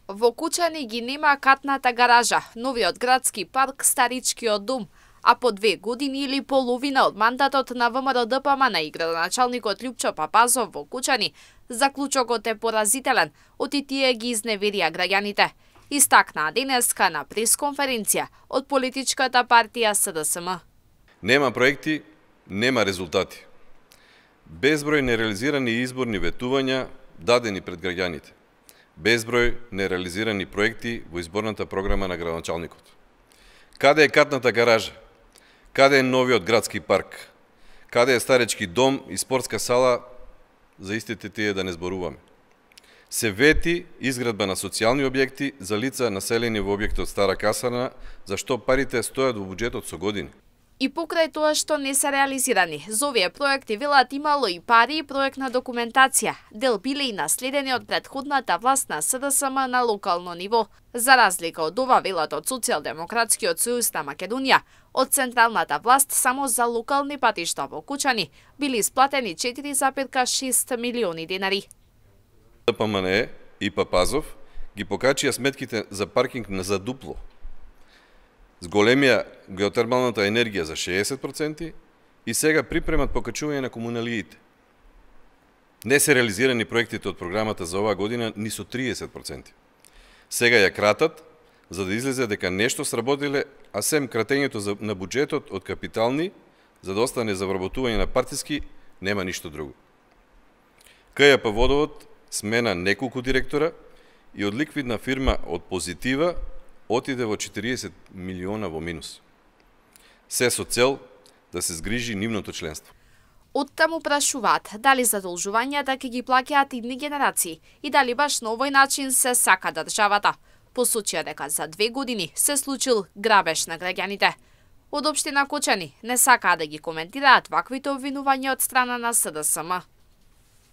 Во Кучани ги нема катната гаража, новиот градски парк, старичкиот дом, а по 2 години или половина од мандатот на ВМРО-ДПМН и градоначалникот Љупчо Папазов во Кучани, заклучокот е поразителен, оти тие ги изневерија граѓаните. Истакнаа денеска на пресконференција од политичката партија СДСМ. Нема проекти, нема резултати. Безброј нереализирани изборни ветувања дадени пред граѓаните. Безброј нереализирани проекти во изборната програма на градоначалникот. Каде е катната гаража? Каде е новиот градски парк? Каде е старечки дом и спортска сала, за истите тие да не зборуваме? Се вети изградба на социјални објекти за лица населени во објектот Стара Касарна, за што парите стојат во буџетот со години. И покрај тоа што не се реализирани, за овие проекти велат имало и пари и проектна документација, дел биле и наследени од претходната власт на СДСМ на локално ниво. За разлика од ова, велат од Социјалдемократскиот сојуз на Македонија, од централната власт само за локални патишта во Кучани били исплатени 4,6 милиони денари. ДПМН и Папазов ги покачија сметките за паркинг на за дупло. Зголемија геотермалната енергија за 60% и сега припремат покачување на комуналиите. Не се реализирани проектите од програмата за оваа година ни со 30%. Сега ја кратат, за да излезе дека нешто сработиле, а сем кратењето на буџетот од капитални, за да остане за вработување на партиски, нема ништо друго. КЈП Водовод смена неколку директора и од ликвидна фирма од Позитива отиде во 40 милиона во минус. Се со цел да се згрижи нивното членство. Оттаму прашуваат дали задолжувањата ќе ги плаќаат идни генерации и дали баш на овој начин се сака државата. Посочија дека за 2 години се случил грабеж на граѓаните. Од општина Кучани не сакаа да ги коментираат ваквите обвинувања од страна на СДСМ.